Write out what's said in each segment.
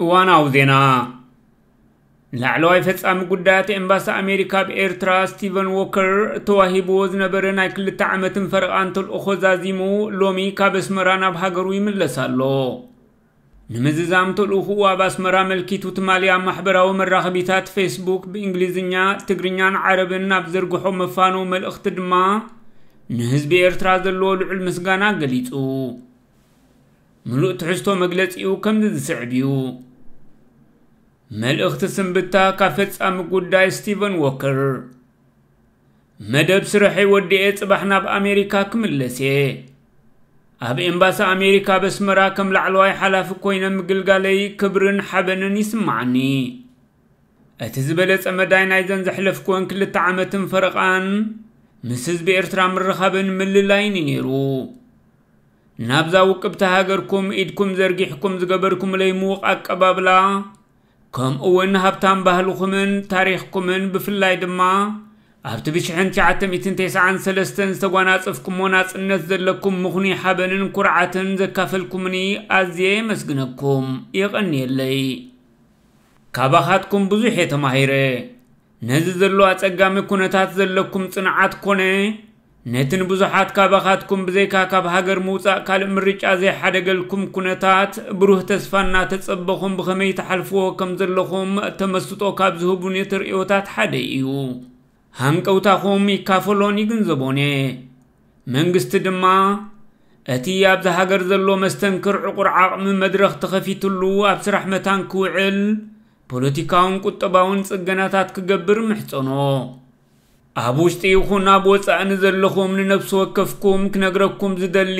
እዋናዊ ዜና። ላዕለዋይ ፈጻሚ ጉዳያት ኤምባሲ ኣሜሪካ ኣብ ኤርትራ ስቲቨን ዎከር ተዋሂብዎ ዝነበረ ናይ ክልተ ዓመትን ፈረቓን ተልእኾ ዛዚሙ ሎሚ ካብ ኣስመራ ናብ ሃገሩ ይምለስ ኣሎ። ንምዝዛም ተልእኹኡ ኣብ ኣስመራ ኣመልኪቱ ትማሊ ኣብ ማሕበራዊ መራኸቢታት ፌስቡክ ብእንግሊዝኛ፣ ትግርኛን ዓረብን ኣብ ዘርግሖ መፋነዊ መልእኽቲ ድማ ንህዝቢ ኤርትራ ዘለዎ ልዑል ምስጋና ገሊጹ። ምሉእ ትሕዝቶ መግለጺኡ ከምዚ ዝስዕብ እዩ። መልእኽቲ ስንብታ ካብ ፈጻሚ ጉዳይ ስቲቨን ዎከር። መደብ ስርሐይ ወዲኤ ጽባሕ ናብ ኣሜሪካ ክምለስ እየ። ኣብ ኤምባሲ ኣሜሪካ ኣብ ኣስመራ ከም ላዕለዋይ ሓላፊ ኮይነ ምግልጋለይ ክብርን ሓበንን ይስምዓኒ። እቲ ዝበለጸ መዳይ ናይዘን ዘሕለፍኩወን ክልተ ዓመትን ፈረቓን ምስ ህዝቢ ኤርትራ ምርኻብን ምልላይን እዩ ነይሩ። ናብዛ ውቅብቲ ሃገርኩም ኢድኩም ዘርጊሕኩም ዝገበርኩምለይ ምዉቕ ኣቀባብላ፣ ከምኡ እውን ሃብታም ባህልኹምን ታሪኽኩምን ብፍላይ ድማ ኣብቲ ብሽሕን ትሽዓተ ሚእትን ተስዓን ሰለስተን ዝተጓናጸፍኩሞ ናጽነት ዘለኩም ምኹኑይ ሓበንን ኩርዓትን ዘካፈልኩምኒ ኣዝየ የመስግነኩም። የቐንየለይ። ካባኻትኩም ብዙሕ እየ ተማሂረ። ነዚ ዘሎ ኣጸጋሚ ኩነታት ዘለኩም ጽንዓት ኮነ ነቲ ንብዙሓት ካባኻትኩም ብዘይካ ካብ ሃገር ምውጻእ ካልእ ምርጫ ዘይሓደገልኩም ኩነታት ብሩህ ተስፋ እናተጸበኹም ብኸመይ ትሓልፍዎ ከም ዘለኹም ተመስጦ ካብ ዝህቡኒ ተርእዮታት ሓደ እዩ። ሃንቀውታኹም ይካፈሎን ይግንዘቦን እየ። መንግስቲ ድማ እቲ ኣብዚ ሃገር ዘሎ መስተንክር ዕቑር ዓቕሚ መድረኽ ተኸፊትሉ ኣብ ስራሕ መታን ክውዕል ፖለቲካውን ቁጠባውን ጽገናታት ክገብር ምሕጸኖ። ኣብ ውሽጢ ይኹን ኣብ ወጻኢ ንዘለኹም ንነፍሲ ወከፍኩም ክነግረኩም ዝደሊ፣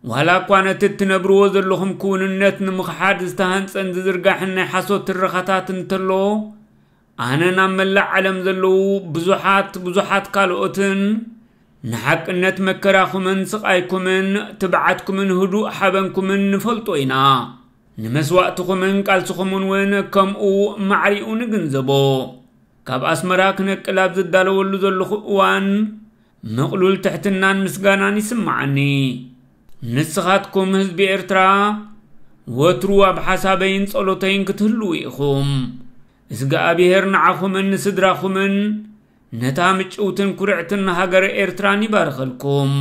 ዋላ እኳ ነቲ እትነብርዎ ዘለኹም ክውንነት ንምኽሓድ ዝተሃንጸን ዝዝርጋሕን ናይ ሓሶት ትረኻታት እንተሎ፣ ኣነ ናብ መላእ ዓለም ዘለዉ ብዙሓት ብዙሓት ካልኦትን ንሓቅነት መከራኹምን ስቓይኩምን ትብዓትኩምን ህዱእ ሓበንኩምን ንፈልጦ ኢና። ንመስዋእትኹምን ቃልስኹምን እውን ከምኡ ማዕሪኡ ንግንዘቦ። ካብ ኣስመራ ክነቅል ኣብ ዝዳለወሉ ዘለኹ እዋን ምቕሉል ትሕትናን ምስጋናን ይስምዓኒ። ንስኻትኩም ህዝቢ ኤርትራ ወትሩ ኣብ ሓሳበይን ጸሎተይን ክትህልዉ ኢኹም። እዝግኣብሄር ንዓኹምን ንስድራኹምን ነታ ምጭውትን ኩርዕትን ሃገር ኤርትራን ይባርኸልኩም።